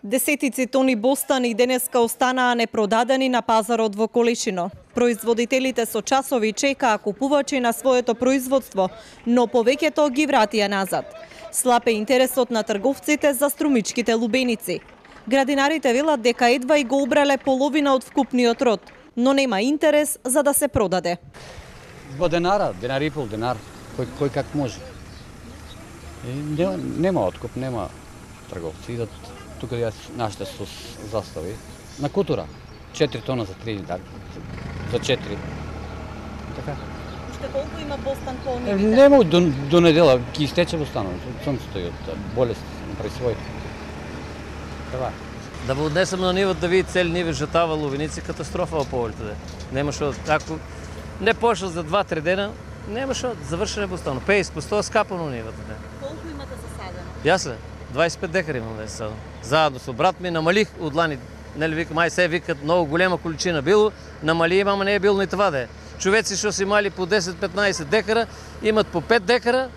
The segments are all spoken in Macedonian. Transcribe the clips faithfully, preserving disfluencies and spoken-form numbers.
Десетици тони бостани денеска останаа непродадени на пазарот во Колешино. Производителите со часови чекаа купувачи на своето производство, но повеќето ги вратија назад. Слаб е интересот на трговците за струмичките лубеници. Градинарите велат дека едва и го убрале половина од вкупниот род, но нема интерес за да се продаде. Во денара, денар и пол, денар, кој, кој как може. И нема, нема откуп, нема трговци. Идат тука јас нашите со застави на кутура. четири тона за три, да, за четири. Така. Уште колку има бостан по нивите? Нема до, до недела, ќе истече бостанот. Сонцето и од болест при свој. Така. Да го однесем на нивот да види цели ниви жатава лувеници, катастрофа во полето. Нема што, ако не пошел за два-три дена, нема што, завршене бостано. пеесет по сто скапано нивото. Колку имате засадено? Јас ле, дваесет и пет декари имам да садам. Заедно со брат ми намалих од лани. Нели вика, мај се викат многу голема количина било, намали имам, не е било ни това да е. Човеци што си имали по десет-петнаесет декара, имат по пет декара,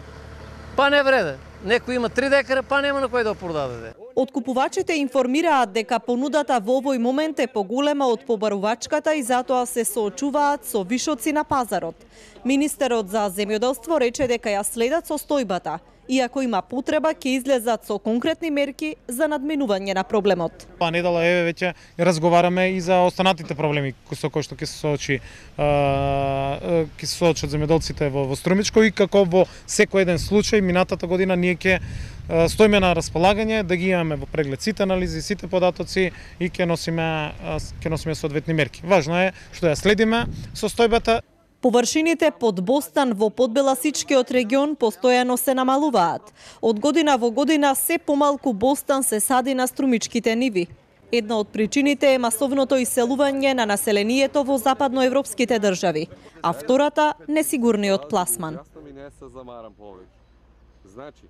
па не вреде. Некој има три декара, па нема на кој да продаде. Откупувачите информираат дека понудата во овој момент е поголема од побарувачката и затоа се соочуваат со вишоци на пазарот. Министерот за земјоделство рече дека ја следат состојбата и ако има потреба ќе излезат со конкретни мерки за надминување на проблемот. Па недела еве веќе разговараме и за останатите проблеми со кои што ќе се соочи ќе се соочат земјоделците во, во Струмичко и како во секој еден случај минатата година ние ќе стоиме на располагање да ги имаме во преглед сите анализи, сите податоци и ќе носиме ќе носиме соодветни мерки. Важно е што ја следиме состојбата. Површините под бостан во подбеласичкиот регион постојано се намалуваат. Од година во година се помалку бостан се сади на струмичките ниви. Една од причините е масовното иселување на населението во западноевропските држави, а втората несигурниот пласман. Јас не се замарам повеќе. Значи,